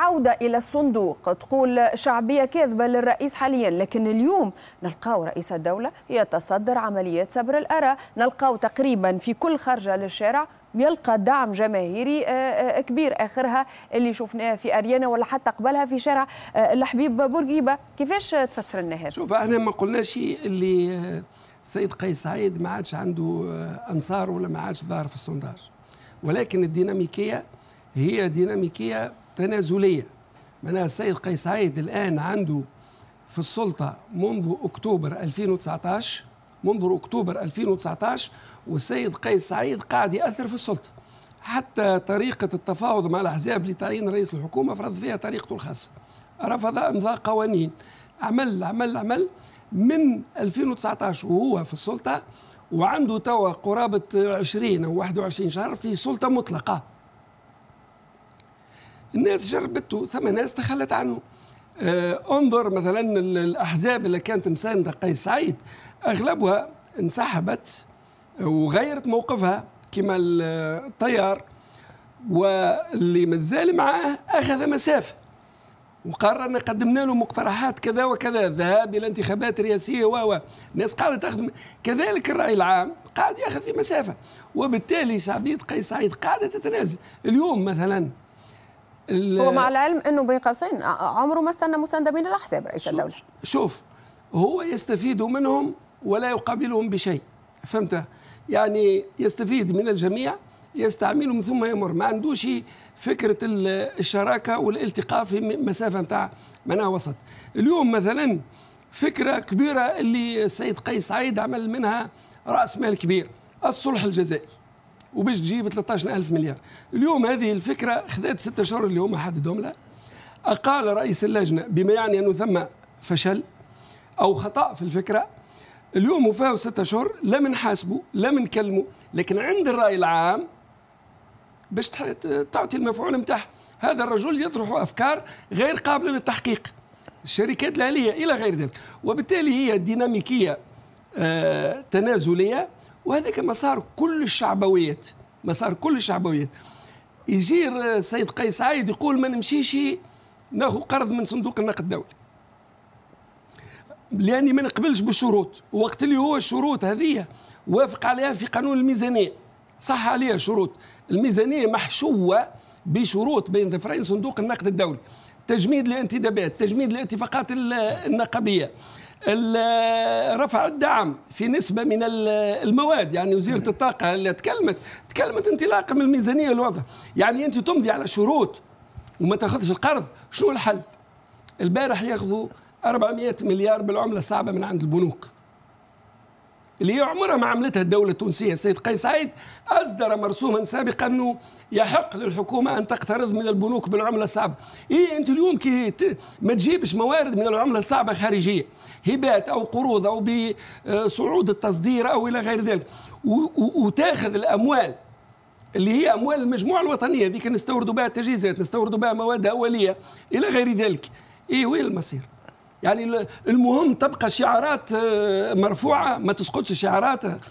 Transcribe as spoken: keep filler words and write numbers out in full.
عودة إلى الصندوق، تقول شعبية كاذبة للرئيس حاليا، لكن اليوم نلقاو رئيس الدولة يتصدر عمليات سبر الآراء، نلقاو تقريبا في كل خرجة للشارع يلقى دعم جماهيري آه، آه، كبير، آخرها اللي شفناه في أريانا ولا حتى قبلها في شارع آه، الحبيب بورقيبة. كيفاش تفسر لنا هذا؟ شوف، احنا ما قلناش اللي السيد قيس سعيد ما عادش عنده أنصار ولا ما عادش ظاهر في ال sondage، ولكن الديناميكية هي ديناميكية تنازلية. معناها السيد قيس سعيد الآن عنده في السلطة منذ أكتوبر ألفين وتسعة عشر، منذ أكتوبر ألفين وتسعة عشر والسيد قيس سعيد قاعد يأثر في السلطة. حتى طريقة التفاوض مع الأحزاب لتعيين رئيس الحكومة فرض فيها طريقته الخاصة، رفض إمضاء قوانين، عمل عمل عمل من ألفين وتسعة عشر وهو في السلطة، وعنده توا قرابة عشرين أو واحد وعشرين شهر في سلطة مطلقة. الناس جربته، ثم ناس تخلت عنه. آه انظر مثلا الأحزاب اللي كانت مساندة قيس سعيد أغلبها انسحبت وغيرت موقفها كما التيار، واللي مازال معاه أخذ مسافة وقرر ان قدمنا له مقترحات كذا وكذا، الذهاب الى انتخابات رئاسيه و الناس قاعدة تاخذ، كذلك الراي العام قاعد ياخذ في مسافه، وبالتالي شعبية قيس سعيد قاعدة تتنازل. اليوم مثلا هو مع العلم انه بين قوسين عمره ما استنى مساندة من الاحزاب رئيس الدوله. شوف، هو يستفيد منهم ولا يقابلهم بشيء، فهمت؟ يعني يستفيد من الجميع، يستعملهم ثم يمر. ما عندوش فكرة الشراكة والالتقاء في مسافة نتاع معناها وسط. اليوم مثلا فكرة كبيرة اللي السيد قيس سعيد عمل منها رأس مال كبير، الصلح الجزائي، وباش تجيب ثلاثة عشر ألف مليار. اليوم هذه الفكرة خذت ستة شهور اللي هم حددهم لها، أقال رئيس اللجنة، بما يعني أنه ثم فشل أو خطأ في الفكرة. اليوم وفاو ستة شهور، لا من حاسبه لا من كلمه، لكن عند الرأي العام باش تعطي المفعول نتاعها. هذا الرجل يطرح أفكار غير قابلة للتحقيق، الشركات الأهلية إلى غير ذلك، وبالتالي هي ديناميكية آه تنازلية، وهذاك مسار كل الشعبويات، مسار كل الشعبويات. يجي السيد قيس سعيد يقول ما نمشيش ناخذ قرض من صندوق النقد الدولي لاني ما نقبلش بالشروط، وقت اللي هو الشروط هذه وافق عليها في قانون الميزانيه، صح عليها شروط الميزانية محشوه بشروط بين ظفرين صندوق النقد الدولي: تجميد الانتدابات، تجميد الاتفاقات النقابيه، رفع الدعم في نسبة من المواد. يعني وزيرة الطاقة اللي تكلمت تكلمت انطلاقا من الميزانية الوضع. يعني أنت تمضي على شروط وما تاخذش القرض، شنو الحل؟ البارح ياخذوا أربعمئة مليار بالعملة الصعبة من عند البنوك، اللي هي عمرها ما عملتها الدولة التونسية. السيد قيس سعيد أصدر مرسوما سابقا أنه يحق للحكومة أن تقترض من البنوك بالعملة الصعبة. إيه، أنت اليوم كي ما تجيبش موارد من العملة الصعبة خارجية، هبات أو قروض أو بصعود التصدير أو إلى غير ذلك، وتاخذ الأموال اللي هي أموال المجموعة الوطنية ذيك، نستوردوا بها تجهيزات، نستوردوا بها مواد أولية إلى غير ذلك، إيه وين المصير؟ يعني المهم تبقى شعارات آه، مرفوعة، ما تسقطش شعارات.